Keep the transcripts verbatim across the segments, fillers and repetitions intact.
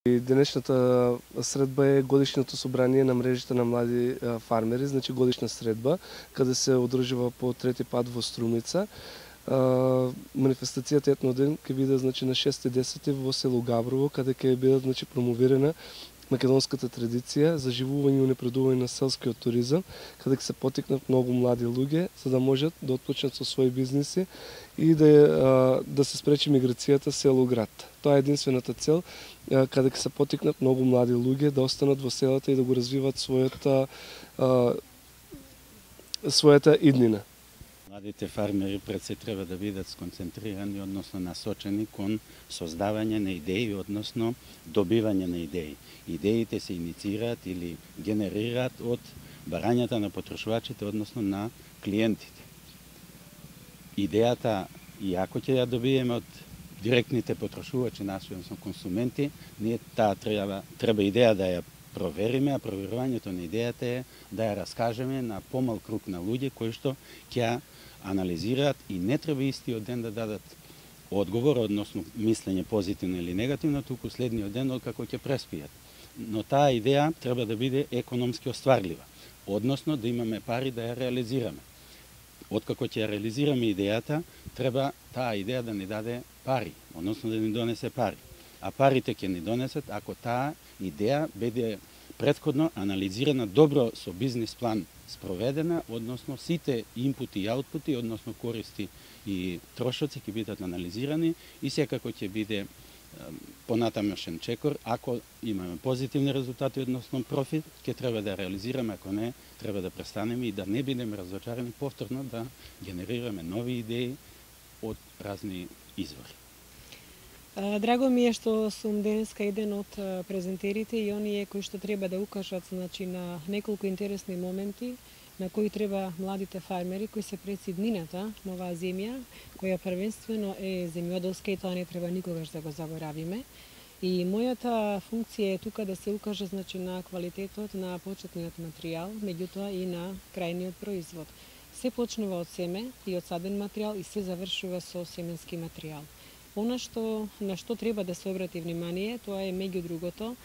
Денешната средба е годишното собрание на мрежите на млади фармери, значи годишна средба, каде се одржува по трети пат во Струмица. Манифестацијата етноден ќе биде значи на шести и десети во село Габрово, каде ќе биде значи промовирана македонската традиција, заживување и унапредување на селскиот туризам, каде ќе се потикнат многу млади луѓе за да можат да отпочнат со своји бизниси и да да се спречи миграцијата село-град. Тоа е единствената цел, каде ќе се потикнат многу млади луѓе да останат во селата и да го развиват својата својата иднина. Младите фармери пред се треба да бидат сконцентрирани, односно насочени кон создавање на идеи, односно добивање на идеи. Идеите се инициираат или генерираат од барањата на потрошувачите, односно на клиентите. Идејата, иако ќе ја добиеме од директните потрошувачи, наши, односно консументи, ние таа треба, треба идеја да ја провериме, а проверувањето на идејата е да ја раскажеме на помал круг на луѓе кои што ќе анализираат и не треба истиот ден да дадат одговор, односно мислење позитивно или негативно, туку следниот ден откако ќе преспијат. Но таа идеја треба да биде економски остварлива, односно да имаме пари да ја реализираме. Откако ќе ја реализираме идејата, треба таа идеја да ни даде пари, односно да ни донесе пари. А парите ќе ни донесат ако таа идеја биде претходно анализирана добро со бизнис план спроведена, односно сите инпути и аутпути, односно користи и трошоци ќе бидат анализирани и секако ќе биде понатамошен чекор. Ако имаме позитивни резултати, односно профит, ќе треба да реализираме, ако не, треба да престанеме и да не бидеме разочарани повторно да генерираме нови идеи од разни извори. Драго ми е што сум денеска еден од презентерите и оние кои што треба да укажат значи, на неколку интересни моменти на кои треба младите фармери кои се пред иднината на оваа земја, која првенствено е земјоделска и тоа не треба никогаш да го заборавиме. И мојата функција е тука да се укаже значи, на квалитетот на почетниот материјал, меѓутоа и на крајниот производ. Се почнува од семе и од саден материјал и се завршува со семенски материјал. Она што на што треба да се обрати внимание, тоа е меѓу другото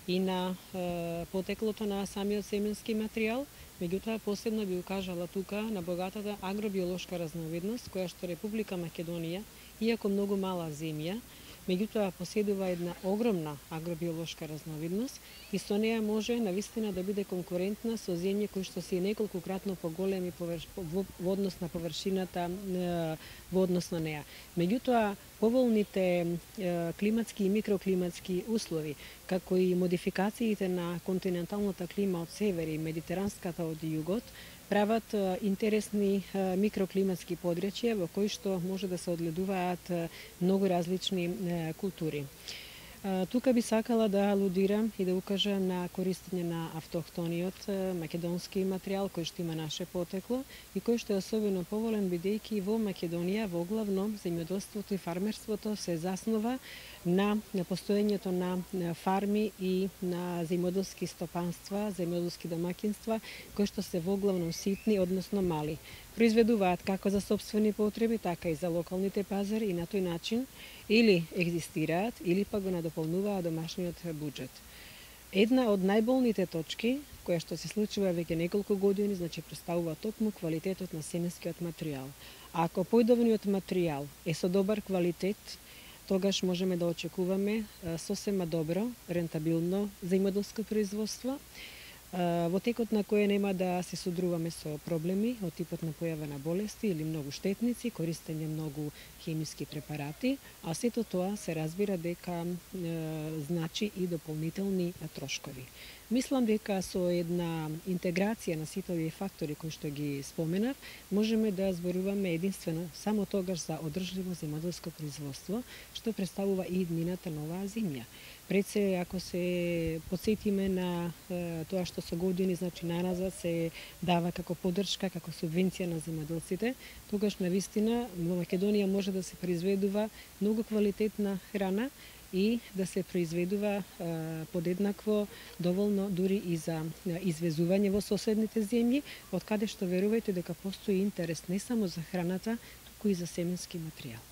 и на е, потеклото на самиот семенски материјал, меѓутоа посебно би укажала тука на богатата агробиолошка разновидност која што Република Македонија, иако многу мала земја, меѓутоа поседува една огромна агробиолошка разновидност и со неја може навистина да биде конкурентна со земји кои што се неколкократно поголеми површ... во однос на површината во однос на неја. Меѓутоа, поволните е, климатски и микроклиматски услови, како и модификациите на континенталната клима од север и медитеранската од југот, прават интересни микроклиматски подрачја во кои што може да се одледуваат многу различни култури. Тука би сакала да алудирам и да укажам на користење на автохтониот македонски материјал кој што има наше потекло и кој што е особено поволен бидејќи во Македонија во главно земјоделството и фармерството се заснова на постоењето на фарми и на земјоделски стопанства, земјоделски домаќинства кои што се во главно ситни, односно мали. Произведуваат како за сопствени потреби, така и за локалните пазари и на тој начин или екзистираат, или па го надополнуваат домашниот буџет. Една од најболните точки, која што се случува веќе неколку години, значи представува токму квалитетот на семенскиот материјал. А ако појдовниот материјал е со добар квалитет, тогаш можеме да очекуваме сосема добро, рентабилно земјоделско производство, во текот на кое нема да се содруваме со проблеми од типот на појава на болести или многу штетници, користење многу хемиски препарати, а сето тоа се разбира дека е, значи и дополнителни трошкови. Мислам дека со една интеграција на сите овие фактори кои што ги споменав, можеме да зборуваме единствено само тогаш за одржливо земјоделско производство, што представува и иднината на оваа земја. Пред се, ако се подсетиме на е, тоа што со години, значи наназад се дава како поддршка, како субвенција на земјоделците, тогаш навистина во Македонија може да се произведува многу квалитетна храна и да се произведува е, подеднакво доволно дури и за извезување во соседните земји, од каде што верувајте дека постои интерес не само за храната, туку и за семенски материјал.